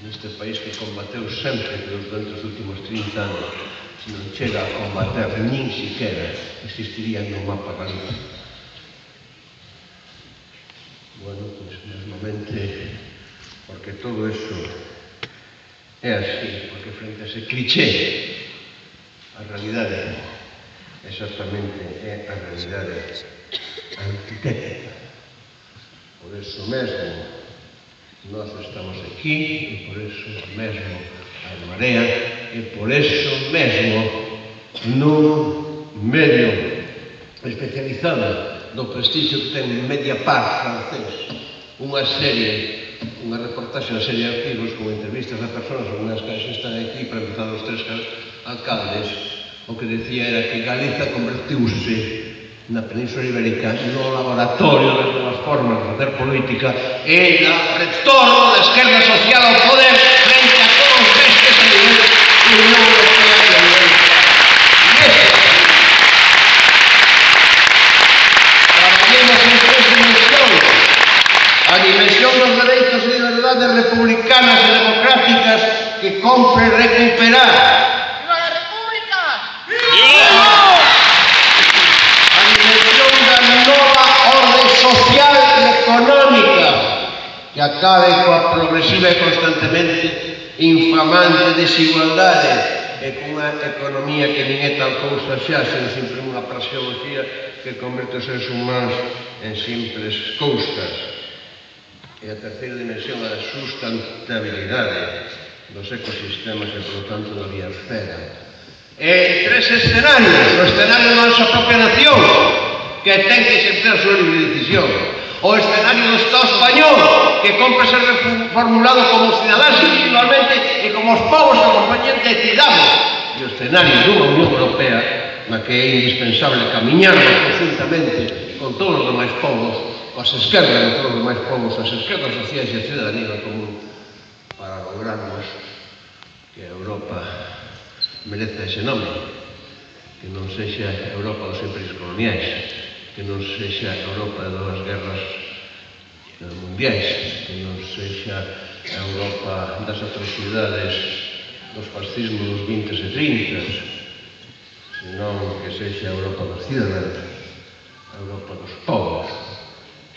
Neste país que combateu sempre durante os últimos 30 anos, se non chega a combater nin siquiera, existiría no mapa Galicia. Bueno, pois mesmamente, porque todo eso é así, porque frente a ese cliché, a realidade exactamente é a realidade antitética. Por eso mesmo, nós estamos aquí e por eso mesmo a Marea e por eso mesmo nun medio especializado do prestixio que ten Mediapart francés, unha reportaxe, unha serie de artigos con entrevistas a persoas, unhas que están aquí para empezar os 3 alcaldes, o que decía era que Galiza convertiuse na Península Ibérica no laboratorio das novas formas de facer política e no retorno da esquerda social ao poder frente a todos estes a nivel de Unión Europea e a nivel traballemos en 3 dimensións: a dimensión dos dereitos e liberdades republicanas e democráticas que compre recuperar. Social e económica que acabe coa progresiva e constantemente infamante desigualdade e cunha economía que nin é tal cousa xa, sen sempre unha praxeoloxía que converte os seres humanos en simples cousas. E a terceira dimensión é a sustentabilidade dos ecosistemas e, por tanto, da biosfera. E 3 escenarios: o escenario da nosa propia nación, que ten que exercer a súa libre decisión; o escenario do Estado español, que compre ser reformulado como cidadáns individualmente e como os povos que acompañen decidamos; e o escenario dunha Unión Europea na que é indispensable camiñarnos conjuntamente con todos os demais povos, coas esquerdas de todos os demais povos, as esquerdas sociais e a cidadanía común, para lograrmos que a Europa mereza ese nome, que non sexa a Europa dos imperios coloniais, que non sexa a Europa das guerras mundiais, que non sexa a Europa das atrocidades dos fascismos dos 20s e 30s, senón que sexa a Europa dos cidadáns, a Europa dos povos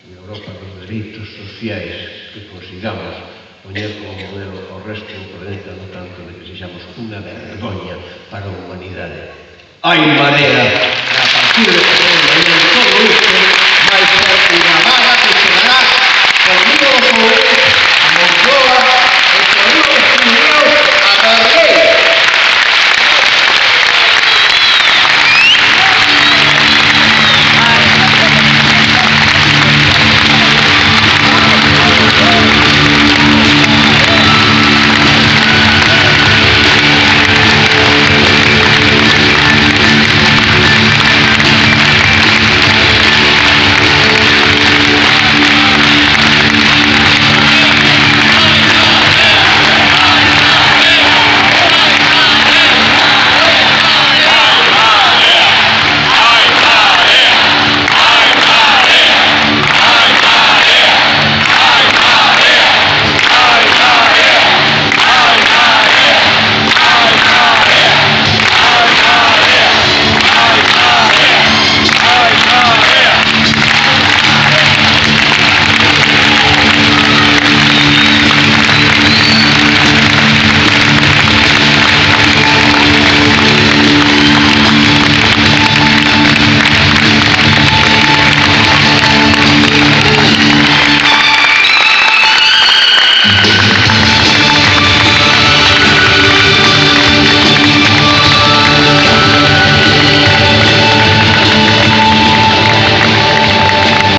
e a Europa dos dereitos sociais, que consigamos poñer como modelo ao resto do planeta, no tanto de que sexamos unha vergoña para a humanidade. Hai Marea, a partir de